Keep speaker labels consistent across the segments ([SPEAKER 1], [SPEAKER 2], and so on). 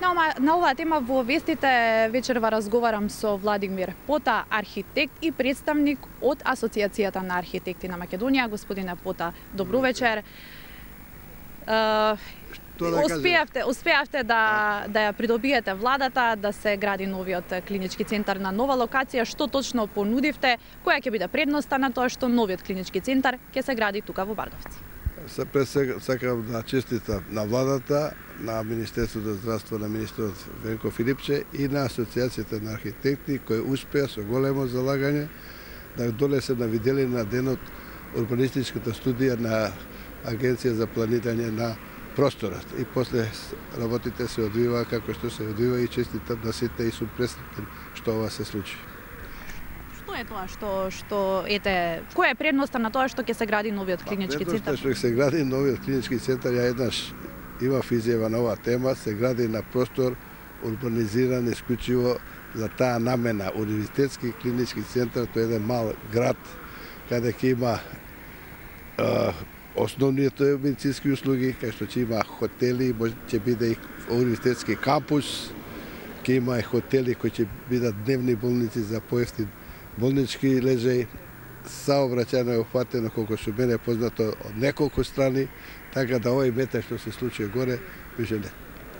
[SPEAKER 1] На оваа тема во вестите вечерва разговарам со Владимир Пота, архитект и представник од Асоцијацијата на архитекти на Македонија. Господине Пота, добро вечер. Успеавте да ја придобиете владата, да се гради новиот клинички центар на нова локација. Што точно понудивте? Која ќе биде предноста на тоа што новиот клинички центар ќе се гради тука во Бардовци?
[SPEAKER 2] Сакам да честитам на владата, на Министерството за здравство, на министерот Венко Филипче и на Асоцијацијата на архитекти кои успеа со големо залагање да донесе на виделина на денот урбанистичката студија на Агенција за планирање на просторот. И после работите се одвива како што се одвива и честитам на сите и сум пресретен што ова се случи.
[SPEAKER 1] Што е тоа која е предноста на тоа што ќе се гради новиот клинички центар?
[SPEAKER 2] Предноста што ќе се гради новиот клинички центар, ја еднаш имав изјава на оваа тема, се гради на простор урбанизиран исклучиво за таа намена. Универзитетски клинички центар, тоа е еден мал град каде ќе има основните медицински услуги, кај што ќе има хотели, ќе биде и универзитетски кампус, ќе има и хотели кои ќе бидат дневни болници за поевтин болнички лежаи. Саобраќајно е опфатено, колку што мене е познато, од неколку страни, така да овој метеж што се случи горе, више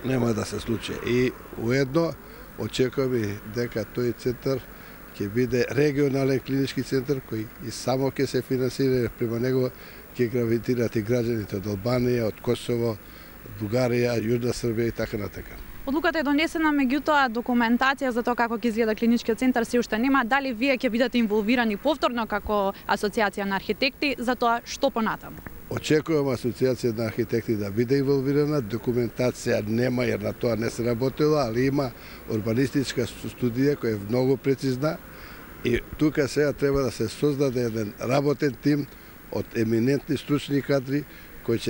[SPEAKER 2] нема да се случи. И уедно очекуваме дека тој центар ќе биде регионален клинички центар кој и само ќе се финансира, према него ќе гравитират и граѓаните од Албанија, од Косово, од Бугарија, Јужна Србија и така натака.
[SPEAKER 1] Одлуката е донесена, меѓутоа документација за тоа како ќе изгледа клиничкиот центар се уште нема. Дали вие ќе бидете инволвирани повторно како Асоцијација на архитекти за тоа што понатаму?
[SPEAKER 2] Очекувам Асоцијација на архитекти да биде инволвирана, документација нема jer на тоа не се работела, али има урбанистичка студија која е многу прецизна и тука сега треба да се создаде еден работен тим од еминентни стручни кадри кој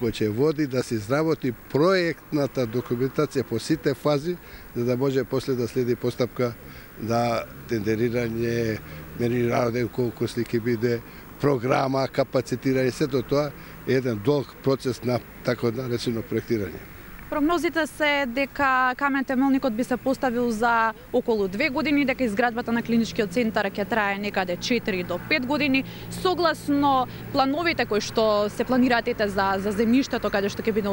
[SPEAKER 2] ќе води да се изработи проектната документација по сите фази, за да може после да следи постапка да тендерирање, мерирање колку ќе биде, програма, капацитирање, сето тоа е еден долг процес на така наречено проектирање.
[SPEAKER 1] Прогнозите се дека камен темелникот би се поставил за околу 2 години, дека изградбата на клиничкиот центар ќе трае некаде 4 до 5 години. Согласно плановите кои што се планираат за земјиштето каде што ќе биде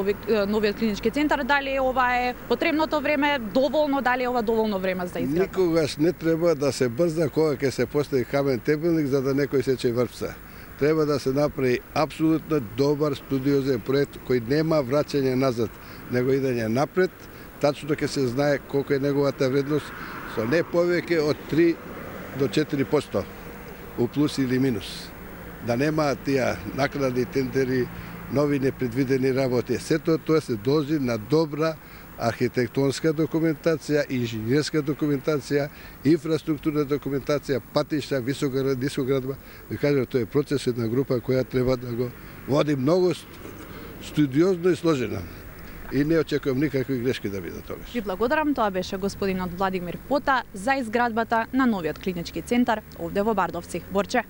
[SPEAKER 1] новиот клинички центар, дали ова е потребното време, доволно, дали е ова доволно време за изградба?
[SPEAKER 2] Никогаш не треба да се брза кога ќе се постави камен темелник за да некој сече врпса. Треба да се направи апсолутно добар студиозен проект кој нема враќање назад, него идење напред, тачно ќе се знае колку е неговата вредност, со не повеќе од 3 до 4% у плюс или минус. Да нема тие накладни тендери, нови непредвидени работи. Сето тоа се должи на добра архитектонска документација, инженерска документација, инфраструктурна документација, патишта, нискоградба. Ви кажам, тоа е процес една група која треба да го води многу студиозно и сложена. И не очекувам никакви грешки да бидат тогаш.
[SPEAKER 1] Ви благодарам, тоа беше господинот Владимир Пота за изградбата на новиот клинички центар овде во Бардовци. Борче.